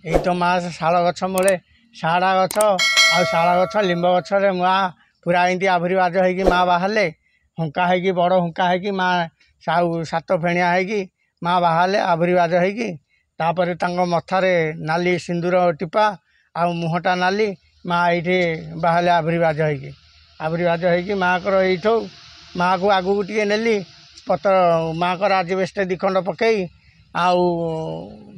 ଏଇ ତ ମା ଶାଳ ଗଛ ମୂଳେ, ଶାଳ ଗଛ ଆଉ ଶାଳ ଗଛ ଲିମ୍ବ ଗଛରେ ମା ପୁରା ଏମିତି ଆବିର୍ଭାବ ହେଇକି ମା ବାହାରିଲେ। ହୁଙ୍କା ହେଇକି, ବଡ଼ ହୁଙ୍କା ହେଇକି ମା, ଆଉ ସାତ ଫେଣିଆ ହେଇକି ମା ବାହାରିଲେ ଆବିର୍ଭାବ ହେଇକି। ତାପରେ ତାଙ୍କ ମଥାରେ ନାଲି ସିନ୍ଦୁର ଟିପା ଆଉ ମୁହଁଟା ନାଲି। ମା ଏଇଠି ବାହାରିଲେ ଆବିର୍ଭାବ ହେଇକି। ଆବିର୍ଭାବ ହେଇକି ମାଆଙ୍କର ଏଇଠୁ ମାଆକୁ ଆଗକୁ ଟିକେ ନେଲି, ପତ୍ର ମାଆଙ୍କର ଆଜବେଷ୍ଟ 2 ଖଣ୍ଡ ପକେଇ ଆଉ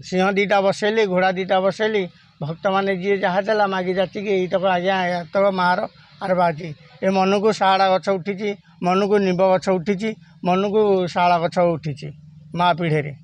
ସିଂହ 2ଟା ବସେଇଲି, ଘୋଡ଼ା 2ଟା ବସେଇଲି। ଭକ୍ତମାନେ ଯିଏ ଯାହା ଦେଲା ମାଗି ଯାଚିକି ଏଇତକ ଆଜ୍ଞା ଏତକ ମାଆର ଆରବା ଅଛି। ଏ ମନକୁ ଶାଳ ଗଛ ଉଠିଛି, ମନକୁ ନିମ୍ବ ଗଛ ଉଠିଛି, ମନକୁ ଶାଳ ଗଛ ଉଠିଛି ମା ପିଢ଼ିରେ।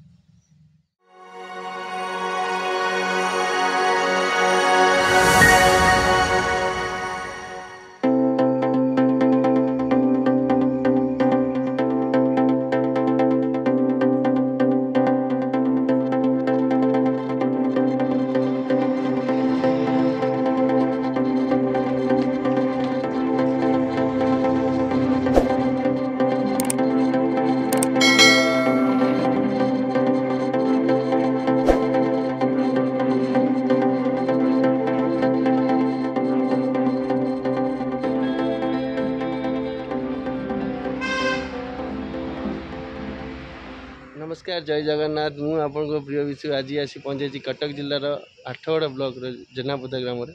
ନମସ୍କାର, ଜୟ ଜଗନ୍ନାଥ। ମୁଁ ଆପଣଙ୍କ ପ୍ରିୟ ବିଶୁ ଆଜି ଆସି ପହଞ୍ଚିଛି କଟକ ଜିଲ୍ଲାର ଆଠଗଡ଼ ବ୍ଲକର ଜେନାପଦା ଗ୍ରାମରେ।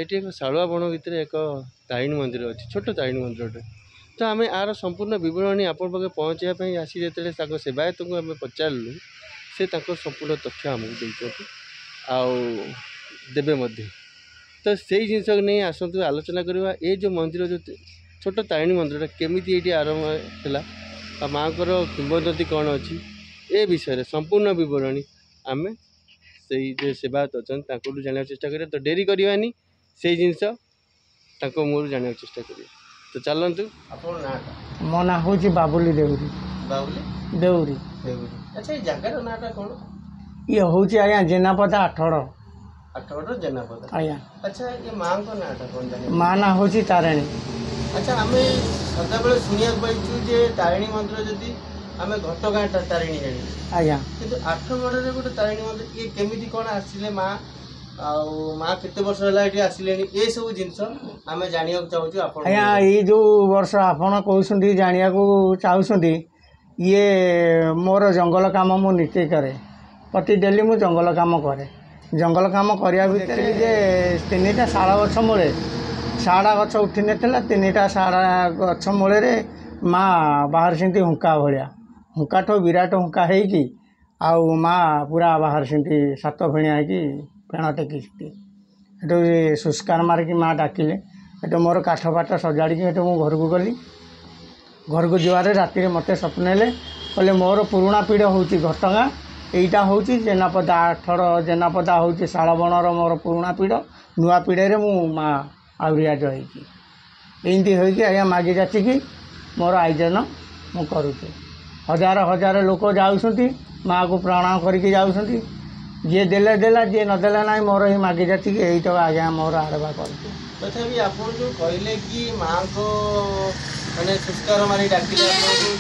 ଏଠି ଏକ ଶାଳୁଆ ବଣ ଭିତରେ ଏକ ତାରିଣୀ ମନ୍ଦିର ଅଛି, ଛୋଟ ତାରିଣୀ ମନ୍ଦିରଟେ। ତ ଆମେ ଆର ସମ୍ପୂର୍ଣ୍ଣ ବିବରଣୀ ଆପଣଙ୍କ ପାଖରେ ପହଞ୍ଚାଇବା ପାଇଁ ଆସି ଯେତେବେଳେ ତାଙ୍କ ସେବାୟତଙ୍କୁ ଆମେ ପଚାରିଲୁ, ସେ ତାଙ୍କ ସମ୍ପୂର୍ଣ୍ଣ ତଥ୍ୟ ଆମକୁ ଦେଇଛନ୍ତି ଆଉ ଦେବେ ମଧ୍ୟ। ତ ସେଇ ଜିନିଷକୁ ନେଇ ଆସନ୍ତୁ ଆଲୋଚନା କରିବା। ଏ ଯେଉଁ ମନ୍ଦିର, ଯେଉଁ ଛୋଟ ତାରିଣୀ ମନ୍ଦିରଟା କେମିତି ଏଇଠି ଆରମ୍ଭ ହେଲା ଆଉ ମାଆଙ୍କର କିମ୍ବଦନ୍ତୀ କ'ଣ ଅଛି, ଏ ବିଷୟରେ ସମ୍ପୂର୍ଣ୍ଣ ବିବରଣୀ ଆମେ ସେଇ ଯେ ସେବାୟତ ଅଛନ୍ତି ତାଙ୍କଠୁ ଜାଣିବାକୁ ଚେଷ୍ଟା କରିବା। ତ ଡେରି କରିବାନି, ସେଇ ଜିନିଷ ତାଙ୍କ ମୁହଁରୁ ଜାଣିବାକୁ ଚେଷ୍ଟା କରିବା। ତ ଚାଲନ୍ତୁ। ଆପଣଙ୍କ ନାଁଟା? ମୋ ନାଁ ହେଉଛି ବାବୁଲି ଦେଉରୀ। ବାବୁଲି ଦେଉରୀ। ଦେଉରୀ। ଆଚ୍ଛା, ଏଇ ଜାଗାର ନାଁଟା କ'ଣ? ଇଏ ହେଉଛି ଆଜ୍ଞା ଜେନାପଦା, ଆଠଗଡ଼। ଆଠଗଡ଼ର ଜେନାପଦା। ଆଜ୍ଞା। ଆଚ୍ଛା, ଏ ମାଆଙ୍କ ନାଁଟା କ'ଣ ଜାଣିବା? ମା ନାଁ ହେଉଛି ତାରିଣୀ। ଆଚ୍ଛା, ଆମେ ସଦାବେଳେ ଶୁଣିବାକୁ ପାଇଛୁ ଯେ ତାରିଣୀ ମନ୍ଦିର ଯଦି ଆମେ ଘଟଗାଁ ତାରିଣୀ ଜାଣିଛୁ। ଆଜ୍ଞା। କିନ୍ତୁ ଆଠଗଡ଼ରେ ଗୋଟେ ତାରିଣୀ ମନ୍ଦିର, ଇଏ କେମିତି କ'ଣ ଆସିଲେ ମା, ଆଉ ମା କେତେ ବର୍ଷ ହେଲା ଏଠି ଆସିଲେଣି, ଏସବୁ ଜିନିଷ ଆମେ ଜାଣିବାକୁ ଚାହୁଁଛୁ ଆପଣ। ଆଜ୍ଞା, ଏଇ ଯେଉଁ ବର୍ଷ ଆପଣ କହୁଛନ୍ତି ଜାଣିବାକୁ ଚାହୁଁଛନ୍ତି, ଇଏ ମୋର ଜଙ୍ଗଲ କାମ ମୁଁ ନିଜେ କରେ। ପ୍ରତି ଡେଲି ମୁଁ ଜଙ୍ଗଲ କାମ କରେ। ଜଙ୍ଗଲ କାମ କରିବା ଭିତରେ ଯେ 3ଟା ଶାଳ ଗଛ ମୂଳେ, ଶାଳ ଗଛ ଉଠିନଥିଲା, 3ଟା ଶାଳ ଗଛ ମୂଳରେ ମା ବାହାରିଛନ୍ତି ହୁଙ୍କା ଭଳିଆ, ହୁଙ୍କାଠୁ ବିରାଟ ହୁଙ୍କା ହେଇକି ଆଉ ମା ପୁରା ବାହାରିଛନ୍ତି ସାତ ଫେଣିଆ ହେଇକି, ଫେଣ ଟେକିଛନ୍ତି। ସେଠୁ ଶୁଷ୍କାର ମାରିକି ମା ଡାକିଲେ। ସେଠୁ ମୋର କାଠ ଫାଠ ସଜାଡ଼ିକି ସେଠୁ ମୁଁ ଘରକୁ ଗଲି। ଘରକୁ ଯିବାରେ ରାତିରେ ମୋତେ ସ୍ୱପ୍ନ ହେଲେ, କହିଲେ ମୋର ପୁରୁଣା ପୀଢ଼ ହେଉଛି ଘଟଗାଁ, ଏଇଟା ହେଉଛି ଜେନାପଦା, ଆଠଗଡ଼ ଜେନାପଦା ହେଉଛି ଶାଳବଣର ମୋର ପୁରୁଣା ପୀଢ଼, ନୂଆ ପୀଢ଼ରେ ମୁଁ ମା ଆଉରିଆଜ ହେଇଛି। ଏମିତି ହେଇକି ଆଜ୍ଞା ମାଗି ଯାଚିକି ମୋର ଆୟୋଜନ ମୁଁ କରୁଛି। ହଜାର ହଜାର ଲୋକ ଯାଉଛନ୍ତି, ମାଆକୁ ପ୍ରଣାମ କରିକି ଯାଉଛନ୍ତି। ଯିଏ ଦେଲେ ଦେଲା, ଯିଏ ନଦେଲା ନାହିଁ। ମୋର ଏଇ ମାଗି ଯାଚିକି ଏଇତ ଆଜ୍ଞା ମୋର ଆରମ୍ଭ କରୁଛି। ତଥାପି ଆପଣ ଯେଉଁ କହିଲେ କି ମାଆଙ୍କ ମାନେ ଶୁଷ୍କାର ମାରି ଡାକିଲେ ଆପଣଙ୍କୁ,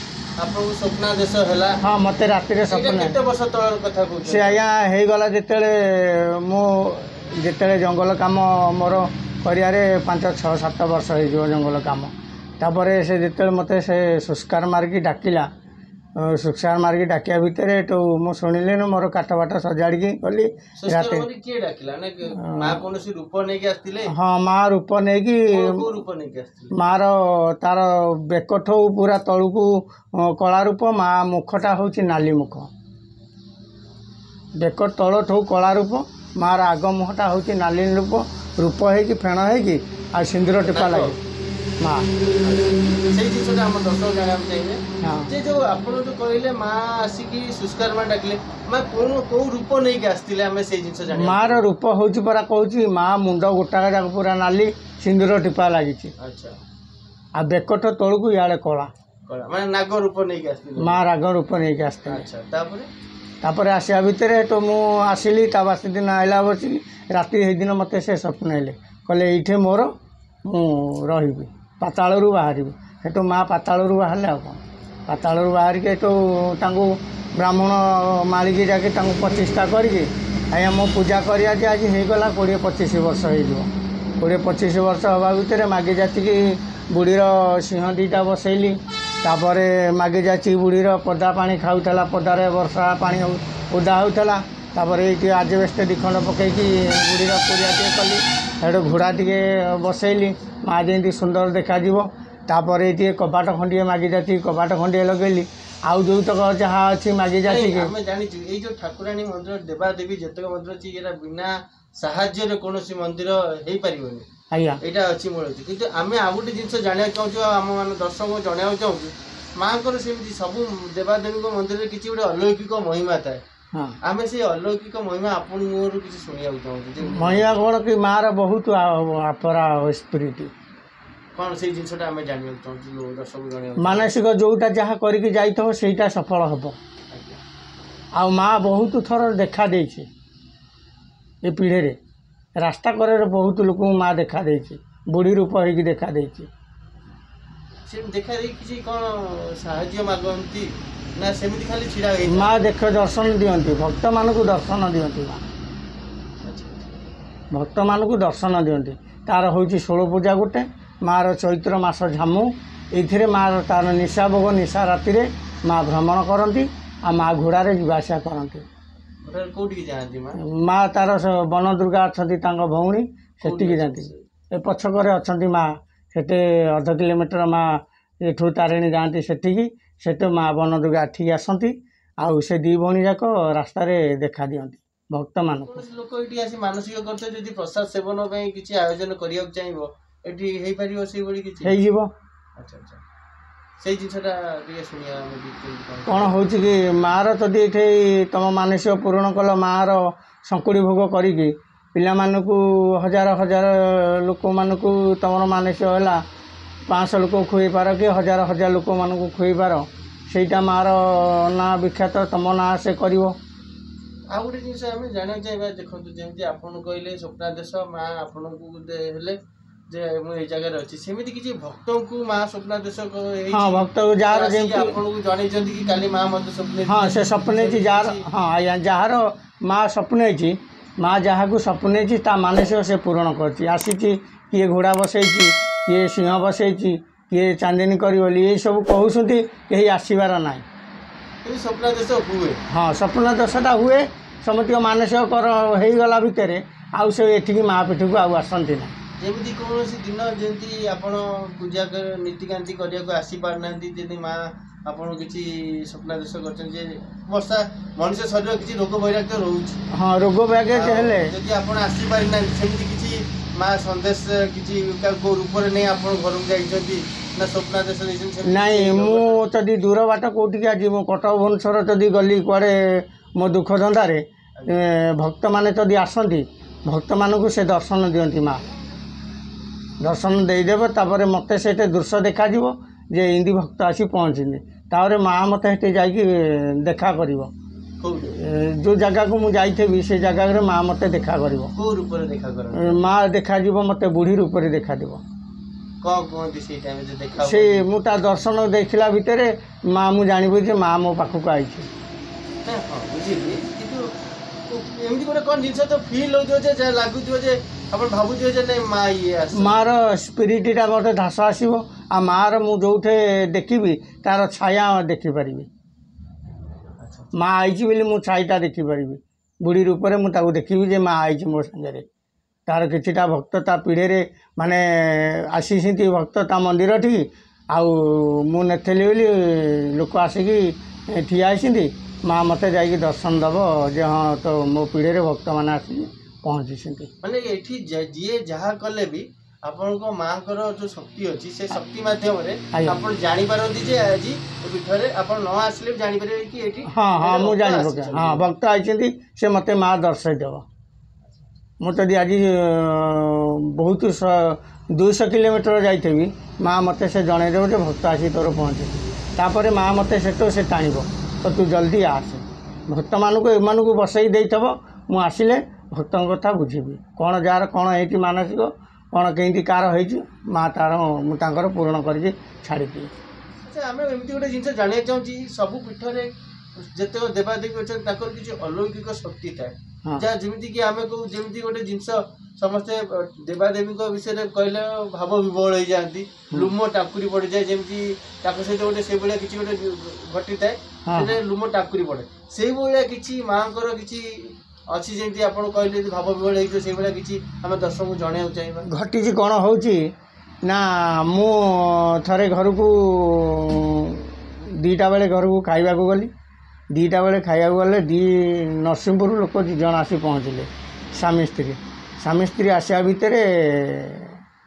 ଆପଣଙ୍କୁ ସ୍ୱପ୍ନାଦେଶ ହେଲା? ହଁ, ମୋତେ ରାତିରେ ସ୍ୱପ୍ନ। କେତେ ବର୍ଷ ତଳର କଥା କହୁଛନ୍ତି? ସେ ଆଜ୍ଞା ହେଇଗଲା ଯେତେବେଳେ ମୁଁ ଯେତେବେଳେ ଜଙ୍ଗଲ କାମ ମୋର କରିବାରେ 5 6 7 ବର୍ଷ ହେଇଯିବ ଜଙ୍ଗଲ କାମ। ତାପରେ ସେ ଯେତେବେଳେ ମୋତେ ସେ ଶୁଷ୍କାର ମାରିକି ଡାକିଲା, ଶୁଷ୍କାର ମାରିକି ଡାକିବା ଭିତରେ ଏଠୁ ମୁଁ ଶୁଣିଲିନି, ମୋର କାଠ ବାଠ ସଜାଡ଼ିକି ଗଲି ରାତି। କିଏ ଡାକିଲା? ମା କୌଣସି ରୂପ ନେଇକି ଆସିଥିଲେ? ହଁ, ମା ରୂପ ନେଇକି। ରୂପ ନେଇକି ଆସିଥିଲେ? ମାର ତାର ବେକଠୁ ପୁରା ତଳକୁ କଳା ରୂପ, ମା ମୁଖଟା ହେଉଛି ନାଲି ମୁଖ। ବେକ ତଳଠୁ କଳା ରୂପ, ମାର ଆଗ ମୁହଁଟା ହେଉଛି ନାଲି ରୂପ, ରୂପ ହେଇକି ଫେଣ ହେଇକି ଆଉ ସିନ୍ଦୁର ଟିପା ଲାଗେ ମା। ସେଇ ଜିନିଷଟା ଆମ ଦର୍ଶକ ଜାଣିବାକୁ ଚାହିଁବେ ଯେ ଯୋଉ ଆପଣ ଯୋଉ କହିଲେ ମା ଆସିକି ଶୁଷ୍କାର ମା ଡାକିଲେ, ମା କୋଉ କୋଉ ରୂପ ନେଇକି ଆସିଥିଲେ, ଆମେ ସେଇ ଜିନିଷ ଜାଣିବା। ମାର ରୂପ ହେଉଛି ପରା କହୁଛି, ମା ମୁଣ୍ଡ ଗୋଟାକ ଯାକ ପୁରା ନାଲି, ସିନ୍ଦୁର ଟିପା ଲାଗିଛି। ଆଚ୍ଛା। ଆଉ ବେକଠ ତଳକୁ ଇଆଡ଼େ କଳା। କଳା ମାନେ ନାଗ ରୂପ ନେଇକି ଆସିଥିଲେ? ମା ରାଗ ରୂପ ନେଇକି ଆସିଥିଲେ। ଆଚ୍ଛା, ତାପରେ? ତାପରେ ଆସିବା ଭିତରେ ତ ମୁଁ ଆସିଲି, ତା ବାସି ଦିନ ଆଇଲା ବସିକି ରାତି ସେଇଦିନ ମୋତେ ସେ ସ୍ୱପ୍ନ ହେଲେ, କହିଲେ ଏଇଠି ମୋର ମୁଁ ରହିବି, ପାତାଳରୁ ବାହାରିବି। ସେଠୁ ମା ପାତାଳରୁ ବାହାରିଲେ। ଆଉ କ'ଣ, ପାତାଳରୁ ବାହାରିକି ଏଠୁ ତାଙ୍କୁ ବ୍ରାହ୍ମଣ ମାଳିକି ଯାଇକି ତାଙ୍କୁ ପ୍ରତିଷ୍ଠା କରିକି ଆଜ୍ଞା, ମୁଁ ପୂଜା କରିବା ଯେ ଆଜି ହେଇଗଲା 20-25 ବର୍ଷ ହେଇଯିବ। 20-25 ବର୍ଷ ହେବା ଭିତରେ ମାଗି ଯାଚିକି ବୁଢ଼ୀର ସିଂହ 2ଟା ବସେଇଲି। ତାପରେ ମାଗି ଯାଚିକି ବୁଢ଼ୀର ପଦା ପାଣି ଖାଉଥିଲା, ପଦାରେ ବର୍ଷା ପାଣି ଓଦା ହେଉଥିଲା। ତାପରେ ଏଇଠି ଆଜବେଷ୍ଟ 2 ଖଣ୍ଡ ପକେଇକି ବୁଢ଼ୀର କୁଡ଼ିଆ ଟିକେ କଲି। ସେଠୁ ଘୋଡ଼ା ଟିକେ ବସେଇଲି, ମା ଯେମିତି ସୁନ୍ଦର ଦେଖାଯିବ। ତାପରେ ଏଇ ଟିକେ କବାଟ ଖଣ୍ଡିଏ ମାଗି ଯାଚିକି କବାଟ ଖଣ୍ଡିଏ ଲଗେଇଲି। ଆଉ ଯେଉଁତକ ଯାହା ଅଛି ମାଗି ଯାଚିକି। ଆମେ ଜାଣିଛୁ ଏଇ ଯୋଉ ଠାକୁରାଣୀ ମନ୍ଦିର, ଦେବାଦେବୀ ଯେତେକ ମନ୍ଦିର ଅଛି, ଏଇଟା ବିନା ସାହାଯ୍ୟରେ କୌଣସି ମନ୍ଦିର ହେଇପାରିବନି। ଆଜ୍ଞା, ଏଇଟା ଅଛି ମୂଳ ଅଛି। କିନ୍ତୁ ଆମେ ଆଉ ଗୋଟେ ଜିନିଷ ଜାଣିବାକୁ ଚାହୁଁଛୁ ଆଉ ଆମ ମାନେ ଦର୍ଶକଙ୍କୁ ଜଣାଇବାକୁ ଚାହୁଁଛୁ, ମାଙ୍କର ସେମିତି ସବୁ ଦେବାଦେବୀଙ୍କ ମନ୍ଦିରରେ କିଛି ଗୋଟେ ଅଲୌକିକ ମହିମା ଥାଏ। ଆମେ ସେଇ ଅଲୌକିକ ମହିମା ଆପଣଙ୍କରୁ କିଛି ଶୁଣିବାକୁ ଚାହୁଁଛୁ। ମହିମା କ'ଣ କି ମାର ବହୁତ ଆପରା ସ୍ପିରିଟ୍। କ'ଣ ସେଇ ଜିନିଷଟା ଆମେ ଜାଣିବାକୁ ଚାହୁଁଛୁ, ଦର୍ଶକ ଜଣାଇବାକୁ। ମାନସିକ ଯେଉଁଟା ଯାହା କରିକି ଯାଇଥିବ ସେଇଟା ସଫଳ ହେବ। ଆଉ ମା ବହୁତ ଥର ଦେଖା ଦେଇଛି ଏ ପିଢ଼ିରେ, ରାସ୍ତା କଡ଼ରେ ବହୁତ ଲୋକଙ୍କୁ ମା ଦେଖା ଦେଇଛି, ବୁଢ଼ୀ ରୂପ ହେଇକି ଦେଖା ଦେଇଛି। ସେ ଦେଖା ଦେଇକି କିଛି କ'ଣ ସାହାଯ୍ୟ ମାଗନ୍ତି ନା ସେମିତି ଖାଲି ଛିଡ଼ା ହେଇ? ମା ଦେଖ ଦର୍ଶନ ଦିଅନ୍ତି, ଭକ୍ତମାନଙ୍କୁ ଦର୍ଶନ ଦିଅନ୍ତି। ମା ଭକ୍ତମାନଙ୍କୁ ଦର୍ଶନ ଦିଅନ୍ତି। ତାର ହେଉଛି ଷୋଳ ପୂଜା ଗୋଟେ, ମାଆର ଚୈତ୍ର ମାସ ଝାମୁ, ଏଇଥିରେ ମାଆର ତାର ନିଶା ଭୋଗ, ନିଶା ରାତିରେ ମା ଭ୍ରମଣ କରନ୍ତି ଆଉ ମା ଘୋଡ଼ାରେ ଯିବା ଆସିବା କରନ୍ତି। କୋଉଠିକି ଯାଆନ୍ତି ମା? ମା ତାର ବନ ଦୁର୍ଗା ଅଛନ୍ତି ତାଙ୍କ ଭଉଣୀ, ସେଠିକି ଯାଆନ୍ତି। ଏ ପଛକରେ ଅଛନ୍ତି ମା, ସେଠି ଅଧ କିଲୋମିଟର ମା ଏଠୁ ତାରିଣୀ ଯାଆନ୍ତି ସେଠିକି। ସେଠୁ ମା ବନ ଦୁର୍ଗା ଏଠିକି ଆସନ୍ତି। ଆଉ ସେ 2 ଭଉଣୀ ଯାକ ରାସ୍ତାରେ ଦେଖା ଦିଅନ୍ତି ଭକ୍ତମାନଙ୍କୁ। କୌଣସି ଲୋକ ଏଠି ଆସି ମାନସିକ କରିଥିବେ, ଯଦି ପ୍ରସାଦ ସେବନ ପାଇଁ କିଛି ଆୟୋଜନ କରିବାକୁ ଚାହିଁବ, ଏଠି ହେଇପାରିବ ସେଇଭଳି କିଛି? ହେଇଯିବ। ଆଚ୍ଛା ଆଚ୍ଛା, ସେଇ ଜିନିଷଟା ଟିକେ ଶୁଣିବା ଆମେ। କ'ଣ ହେଉଛି କି ମାଆର ଯଦି ଏଠି ତୁମ ମାନସିକ ପୂରଣ କଲ, ମାଆର ଶଙ୍କୁଡ଼ି ଭୋଗ କରିକି ପିଲାମାନଙ୍କୁ, ହଜାର ହଜାର ଲୋକମାନଙ୍କୁ ତୁମର ମାନସିକ ହେଲା, 500 ଲୋକ ଖୁଆଇ ପାର କି ହଜାର ହଜାର ଲୋକମାନଙ୍କୁ ଖୁଆଇ ପାର, ସେଇଟା ମାଆର ନାଁ ବିଖ୍ୟାତ, ତୁମ ନାଁ ସେ କରିବ। ଆଉ ଗୋଟେ ଜିନିଷ ଆମେ ଜାଣିବାକୁ ଚାହିଁବା, ଦେଖନ୍ତୁ ଯେମିତି ଆପଣ କହିଲେ ସ୍ୱପ୍ନାଦେଶ ମା ଆପଣଙ୍କୁ ହେଲେ ଯେ ମୁଁ ଏଇ ଜାଗାରେ ଅଛି, ସେମିତି କିଛି ଭକ୍ତଙ୍କୁ ମା ସ୍ୱପ୍ନାଦେଶ? ହଁ, ଭକ୍ତ ଯାହାର ଯେମିତି ଆପଣଙ୍କୁ ଜଣେଇଛନ୍ତି କି କାଲି ମା ମୋତେ ସ୍ୱପ୍ନ? ହଁ, ସେ ସ୍ୱପ୍ନ ହେଇଛି ଯାହାର। ହଁ ଆଜ୍ଞା, ଯାହାର ମା ସ୍ୱପ୍ନ ହେଇଛି, ମା ଯାହାକୁ ସ୍ୱପ୍ନ ହେଇଛି ତା ମାନସିକ ସେ ପୂରଣ କରିଛି। ଆସିଛି, କିଏ ଘୋଡ଼ା ବସେଇଛି, କିଏ ସିଂହ ବସେଇଛି, କିଏ ଚାନ୍ଦିନୀ କରିବ ବୋଲି ଏଇସବୁ କହୁଛନ୍ତି, କେହି ଆସିବାର ନାହିଁ। ସ୍ୱପ୍ନାଦେଶ ହୁଏ? ହଁ, ସ୍ୱପ୍ନାଦେଶଟା ହୁଏ। ସମସ୍ତଙ୍କ ମାନସିକ କର ହେଇଗଲା ଭିତରେ ଆଉ ସେ ଏଠିକି ମା ପୀଠକୁ ଆଉ ଆସନ୍ତି ନାହିଁ। ଯେମିତି କୌଣସି ଦିନ ଯେମିତି ଆପଣ ପୂଜା ନୀତିକାନ୍ତି କରିବାକୁ ଆସିପାରୁନାହାନ୍ତି, ଯଦି ମା ଆପଣ କିଛି ସ୍ୱପ୍ନାଦେଶ କରିଛନ୍ତି ଯେ ବର୍ଷା, ମଣିଷ ଶରୀର କିଛି ରୋଗ ବୈରାଗ୍ୟ ରହୁଛି। ହଁ, ରୋଗ ବୈରାଗ୍ୟ ହେଲେ ଯଦି ଆପଣ ଆସିପାରିନାହାନ୍ତି, ସେମିତି କିଛି ମା ସନ୍ଦେଶ କିଛି କେଉଁ ରୂପରେ ନେଇ ଆପଣ ଘରକୁ ଯାଇଛନ୍ତି ନା ସ୍ୱପ୍ନାଦେଶ ଦେଇଛନ୍ତି? ନାଇଁ, ମୁଁ ଯଦି ଦୂର ବାଟ କେଉଁଠିକି ଆଜି ମୁଁ କଟକ ଭୁବନେଶ୍ୱର ଯଦି ଗଲି କୁଆଡ଼େ ମୋ ଦୁଃଖ ଧନ୍ଦାରେ, ଭକ୍ତମାନେ ଯଦି ଆସନ୍ତି, ଭକ୍ତମାନଙ୍କୁ ସେ ଦର୍ଶନ ଦିଅନ୍ତି। ମା ଦର୍ଶନ ଦେଇଦେବେ, ତାପରେ ମୋତେ ସେଇଠି ଦୃଶ୍ୟ ଦେଖାଯିବ ଯେ ଏମିତି ଭକ୍ତ ଆସି ପହଞ୍ଚିନି। ତାପରେ ମା ମୋତେ ସେଠି ଯାଇକି ଦେଖା କରିବ। ଯେଉଁ ଜାଗାକୁ ମୁଁ ଯାଇଥିବି ସେ ଜାଗାରେ ମା ମୋତେ ଦେଖା କରିବ। କେଉଁ ରୂପରେ ଦେଖା କରନ୍ତି ମା? ଦେଖାଯିବ ମୋତେ ବୁଢ଼ୀ ରୂପରେ ଦେଖାଯିବ। କ'ଣ କୁହନ୍ତି ସେଇ ଟାଇମ୍ରେ ଦେଖା? ସେ ମୁଁ ତା ଦର୍ଶନ ଦେଖିଲା ଭିତରେ ମା, ମୁଁ ଜାଣିବି ଯେ ମା ମୋ ପାଖକୁ ଆଇଛି। ହଁ ବୁଝିଲି, କିନ୍ତୁ ଏମିତି ଗୋଟେ କ'ଣ ଜିନିଷ ତ ଫିଲ୍ ହେଉଥିବ ଯେ ଯାହା ଲାଗୁଥିବ ଯେ ଆପଣ ଭାବୁଥିବେ ଯେ ନାଇଁ ମା ଇଏ? ମାଆର ସ୍ପିରିଟ୍ଟା ମୋତେ ଧାସ ଆସିବ। ଆଉ ମାଆର ମୁଁ ଯେଉଁଠି ଦେଖିବି ତାର ଛାୟା ଦେଖିପାରିବି। ମା ଆଇଛି ବୋଲି ମୁଁ ଛାଇଟା ଦେଖିପାରିବି। ବୁଢ଼ୀ ରୂପରେ ମୁଁ ତାକୁ ଦେଖିବି ଯେ ମା ଆଇଛି ମୋ ସାଙ୍ଗରେ। ତାର କିଛିଟା ଭକ୍ତ ତା ପିଢ଼ିରେ ମାନେ ଆସିଛନ୍ତି ଭକ୍ତ ତା ମନ୍ଦିରଠିକି, ଆଉ ମୁଁ ନଥିଲି ବୋଲି ଲୋକ ଆସିକି ଠିଆ ହେଇଛନ୍ତି, ମା ମୋତେ ଯାଇକି ଦର୍ଶନ ଦେବ ଯେ ହଁ ତ ମୋ ପିଢ଼ିରେ ଭକ୍ତମାନେ ଆସିକି ପହଞ୍ଚିଛନ୍ତି। ମାନେ ଏଠି ଯିଏ ଯାହା କଲେ ବି ଆପଣଙ୍କ ମାଆଙ୍କର ଯୋଉ ଶକ୍ତି ଅଛି, ସେ ଶକ୍ତି ମାଧ୍ୟମରେ ଆପଣ ଜାଣିପାରନ୍ତି ଯେ ଆଜି ପୀଠରେ ଆପଣ ନ ଆସିଲେ ବି ଜାଣିପାରିବେ କି ଏଠି? ହଁ ହଁ, ମୁଁ ଜାଣିପକାଏ। ହଁ, ଭକ୍ତ ଆଇଛନ୍ତି, ସେ ମୋତେ ମା ଦର୍ଶାଇ ଦେବ। ମୁଁ ଯଦି ଆଜି ବହୁତ 200 କିଲୋମିଟର ଯାଇଥିବି, ମା ମୋତେ ସେ ଜଣେଇଦେବ ଯେ ଭକ୍ତ ଆସି ତୋର ପହଞ୍ଚିଛି। ତାପରେ ମା ମୋତେ ସେଠୁ ସେ ଟାଣିବ, ତ ତୁ ଜଲ୍ଦି ଆସେ, ଭକ୍ତମାନଙ୍କୁ ଏମାନଙ୍କୁ ବସେଇ ଦେଇଥିବ, ମୁଁ ଆସିଲେ ଭକ୍ତଙ୍କ କଥା ବୁଝିବି, କ'ଣ ଯାହାର କ'ଣ ହେଇଛି ମାନସିକ, କ'ଣ କେମିତି କାହାର ହେଇଛି, ମା ତାର ମୁଁ ତାଙ୍କର ପୂରଣ କରିକି ଛାଡ଼ିଦିଏ। ଆଚ୍ଛା, ଆମେ ଏମିତି ଗୋଟେ ଜିନିଷ ଜାଣିବାକୁ ଚାହୁଁଛି, ସବୁ ପୀଠରେ ଯେତେକ ଦେବାଦେବୀ ଅଛନ୍ତି ତାଙ୍କର କିଛି ଅଲୌକିକ ଶକ୍ତି ଥାଏ। ହଁ। ଯାହା ଯେମିତି କି ଆମେ କହୁ, ଯେମିତି ଗୋଟେ ଜିନିଷ ସମସ୍ତେ ଦେବାଦେବୀଙ୍କ ବିଷୟରେ କହିଲେ ଭାବ ବିହ୍ୱଳ ହେଇଯାଆନ୍ତି, ଲୁମ ଟାଙ୍କୁରି ପଡ଼ିଯାଏ, ଯେମିତି ତାଙ୍କ ସହିତ ଗୋଟେ ସେଇଭଳିଆ କିଛି ଗୋଟେ ଘଟିଥାଏ, ସେଟା ଲୁମ ଟାଙ୍କୁରି ପଡ଼େ। ସେଇଭଳିଆ କିଛି ମାଆଙ୍କର କିଛି ଅଛି, ଯେମିତି ଆପଣ କହିଲେ ଯେ ଭାବ ବିହ୍ୱଳ ହେଇଯିବ, ସେଇଭଳିଆ କିଛି ଆମେ ଦର୍ଶକଙ୍କୁ ଜଣେଇବାକୁ ଚାହିଁବା। ଘଟିଛି କ'ଣ ହେଉଛି ନା, ମୁଁ ଥରେ ଘରକୁ 2ଟା ବେଳେ ଘରକୁ ଖାଇବାକୁ ଗଲି। 2ଟା ବେଳେ ଖାଇବାକୁ ଗଲେ 2 ନରସିଂହପୁର ଲୋକ 2 ଜଣ ଆସି ପହଞ୍ଚିଲେ, ସ୍ୱାମୀ ସ୍ତ୍ରୀ। ସ୍ୱାମୀ ସ୍ତ୍ରୀ ଆସିବା ଭିତରେ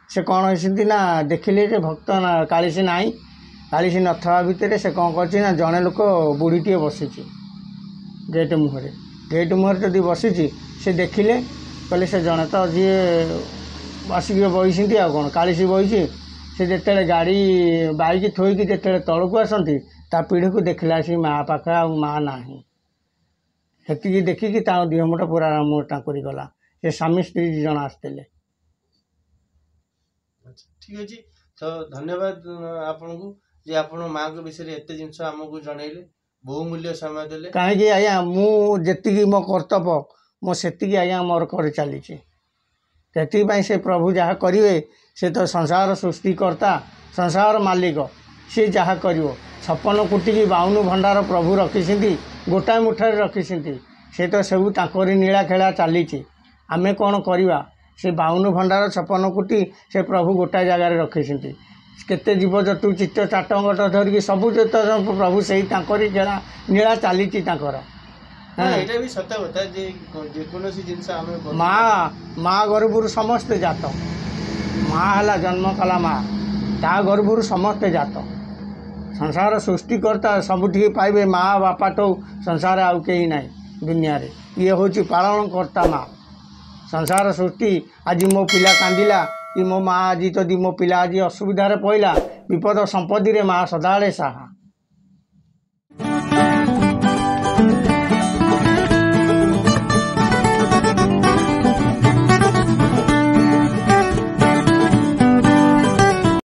ସେ କ'ଣ ହେଇଛନ୍ତି ନା, ଦେଖିଲେ ଯେ ଭକ୍ତ ନା କାଳିଶୀ ନାହିଁ। କାଳିଶୀ ନଥିବା ଭିତରେ ସେ କ'ଣ କରିଛି ନା, ଜଣେ ଲୋକ ବୁଢ଼ୀଟିଏ ବସିଛି ଗେଟ୍ ମୁହଁରେ। ଗେଟ୍ ମୁହଁରେ ଯଦି ବସିଛି, ସେ ଦେଖିଲେ, କହିଲେ ସେ ଜଣେ ତ ଯିଏ ଆସିକି ବଇଛନ୍ତି, ଆଉ କ'ଣ କାଳିଶୀ ବଇଛି। ସେ ଯେତେବେଳେ ଗାଡ଼ି ବାଇକ୍ ଥୋଇକି ଯେତେବେଳେ ତଳକୁ ଆସନ୍ତି, ତା ପିଢ଼ିକୁ ଦେଖିଲା ସେ ମା ପାଖରେ ଆଉ ମା ନାହିଁ। ସେତିକି ଦେଖିକି ତାଙ୍କ ଦେହ ମୁଣ୍ଡ ପୁରା ଟାଙ୍କୁରି ଗଲା। ସେ ସ୍ୱାମୀ ସ୍ତ୍ରୀ 2 ଜଣ ଆସିଥିଲେ। ଆଚ୍ଛା, ଠିକ୍ ଅଛି। ତ ଧନ୍ୟବାଦ ଆପଣଙ୍କୁ ଯେ ଆପଣ ମାଆଙ୍କ ବିଷୟରେ ଏତେ ଜିନିଷ ଆମକୁ ଜଣେଇଲେ, ବହୁମୂଲ୍ୟ ସମୟ ଦେଲେ। କାହିଁକି ଆଜ୍ଞା, ମୁଁ ଯେତିକି ମୋ କର୍ତ୍ତବ୍ୟ ମୁଁ ସେତିକି ଆଜ୍ଞା ମୋର କରି ଚାଲିଛି। ସେଥିପାଇଁ ସେ ପ୍ରଭୁ ଯାହା କରିବେ, ସେ ତ ସଂସାର ସୃଷ୍ଟିକର୍ତ୍ତା, ସଂସାର ମାଲିକ, ସେ ଯାହା କରିବ। 56 କୋଟିକି 52 ଭଣ୍ଡାର ପ୍ରଭୁ ରଖିଛନ୍ତି, ଗୋଟାଏ ମୁଠାରେ ରଖିଛନ୍ତି। ସେ ତ ସବୁ ତାଙ୍କରି ନୀଳା ଖେଳା ଚାଲିଛି, ଆମେ କ'ଣ କରିବା? ସେ 52 ଭଣ୍ଡାର 56 କୋଟି ସେ ପ୍ରଭୁ ଗୋଟାଏ ଜାଗାରେ ରଖିଛନ୍ତି। କେତେ ଜୀବଜନ୍ତୁ ଚିତ୍ତ ଚାଟଙ୍ଗଟ ଧରିକି ସବୁ ଯେତେ ପ୍ରଭୁ ସେଇ ତାଙ୍କରି ଖେଳା ନୀଳା ଚାଲିଛି ତାଙ୍କର। ହଁ, ଏଇଟା ବି ସତ କଥା ଯେ ଯେକୌଣସି ଜିନିଷ ଆମେ ମା ଗର୍ଭରୁ ସମସ୍ତେ ଜାତ। ମା ହେଲା ଜନ୍ମ କଲା ମା, ତା ଗର୍ଭରୁ ସମସ୍ତେ ଜାତ। ସଂସାର ସୃଷ୍ଟିକର୍ତ୍ତା ସବୁଠି ପାଇବେ ମା ବାପାଠୁ ସଂସାର ଆଉ କେହି ନାହିଁ ଦୁନିଆରେ। ଇଏ ହେଉଛି ପାଳନକର୍ତ୍ତା ମା। ସଂସାର ସୃଷ୍ଟି, ଆଜି ମୋ ପିଲା କାନ୍ଦିଲା କି ମୋ ମା ଆଜି ଯଦି ମୋ ପିଲା ଆଜି ଅସୁବିଧାରେ ପଡ଼ିଲା, ବିପଦ ସମ୍ପତ୍ତିରେ ମା ସଦାବେଳେ ସାହା।